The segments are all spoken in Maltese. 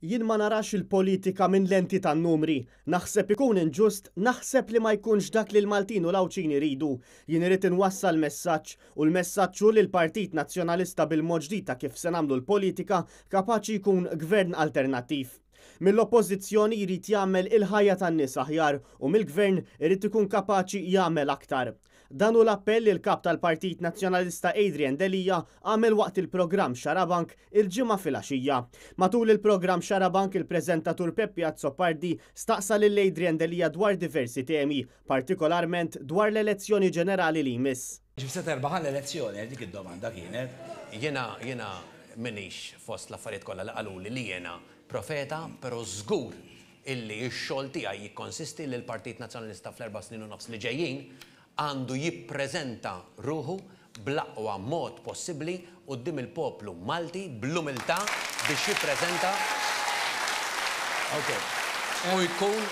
Jien ma narax il-politika minn lenti tan-numri. Naħseb ikun inġust, naħseb li ma jkunx dak li l-Maltin u l-Għawdxin iridu. Jien irrid inwassal messaġġ, u l-messaġġ hu li l-Partit Nazzjonalista bil-mod ġdid ta' kif se nagħmlu l-politika kapaċi jkun gvern alternattiv. Mill-Oppożizzjoni jrid jagħmel il-ħajja tan-nies aħjar u mill-Gvern irid ikun kapaċi jagħmel aktar. Dan hu l-appell li l-Kap tal-Partit Nazzjonalista Adrian Delia għamel waqt il-programm Xarabank il-Ġimgħa filgħaxija. Matul il-programm Xarabank il-preżentatur Peppi Azzopardi staqsa lil Adrian Delia dwar diversi temi, partikolarment dwar l-elezzjoni ġenerali li jmiss. Kif se terbaħ l-elezzjoni? Dik id-domanda kienet. Jiena jiena m'iniex fost l-affarijiet kollha li qaluli li jiena profeta, però żgur illi x-xogħol tiegħi jikkonsisti li l-Partit Nazzjonalista fl-erba' snin u nofs li ġejjin għandu jippreżenta ruħu bl-aqwa mod possibbli quddiem il-poplu Malti bl-umiltà biex jippreżenta u jkun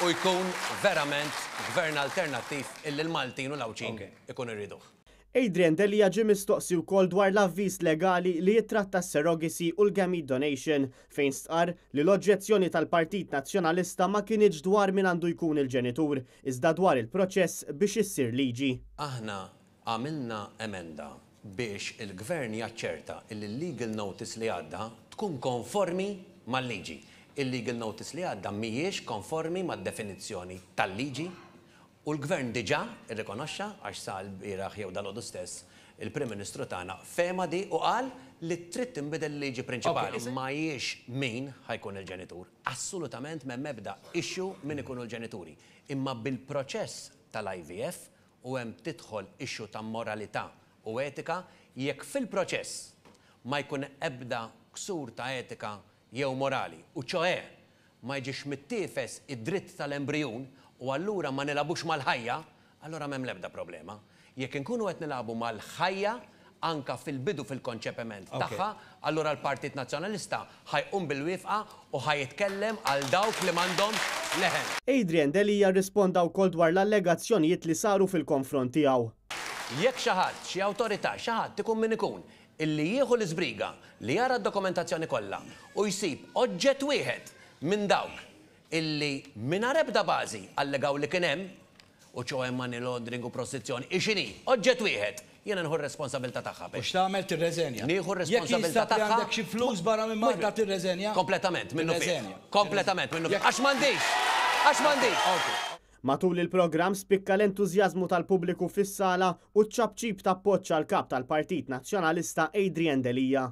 u jkun verament gvern alternattiv illi l-Maltin u l-Għawdxin ikunu jriduh. Adrian Delia ġie mistoqsi wkoll dwar l-avviż legali li jittratta s-surrogacy u l-gamete donation fejn stqarr li l-oġġezzjoni tal-Partit Nazzjonalista ma kinitx dwar min għandu jkun il-ġenitur, iżda dwar il-proċess biex issir liġi. Aħna għamilna emenda biex il-Gvern jaċċerta illi l-legal notice li għadda tkun konformi mal-liġi. Il-legal notice li għadda mhijiex konformi mad-definizzjoni tal-liġi U l-Gvern diġà rrikonoxxa, għax sa lbieraħ jew dalgħodu stess, il-Prim Ministru tagħna fehma di u qal li trid tinbidel il-liġi prinċipali. Ma hijiex min ħa jkun il-ġenitur. Assolutament m'hemm ebda issue min ikunu l-ġenituri. Imma bil-proċess tal-IVF, u hemm tidħol issue ta' moralità u etika, jekk fil-proċess ma jkun ebda ksur ta' etika jew morali, u ċoè ma jiġix mittiefes id-dritt tal-embrijun u allura ma nilagħbux mal-ħajja, allura m'hemm l-ebda problema. Jekk inkunu qed nilagħbu mal-ħajja, anka fil-bidu fil-konċepiment tagħha, allura l-Partit Nazzjonalista ħa jqum bil-wifqa u ħa jitkellem għal dawk li m'għandhomx leħen. Adrian Delia rrisponda wkoll dwar l-allegazzjonijiet li saru fil-konfront tiegħu. Jekk xi ħadd, xi awtorità, xi ħadd ikun min ikun, illi jieħu l-iżbriga li jara d-dokumentazzjoni kollha u jsib oġġett wieħed minn dawk illi mingħajr ebda bażi allegaw li kien hemm, u ċoe money laundering u prostizzjoni, hi x'inhi, oġġett wieħed, jiena nieħu r-responsabilità tagħha. U x'tagħmel? Tirreżenja. Nieħu Jekk r-responsabilità jinstab li tagħha. għandek xi flus barra minn Malta tirreżenja? Kompletament, minnufih. Tirreżenja. Kompletament, minnufih. Jekk Għax m'għandix! Għax m'għandix! Ok. Matul il-programm spikka l-entużjażmu tal-pubbliku fis-sala u ċ-ċapċip t'appoġġ għall-Kap tal-Partit Nazzjonalista Adrian Delia.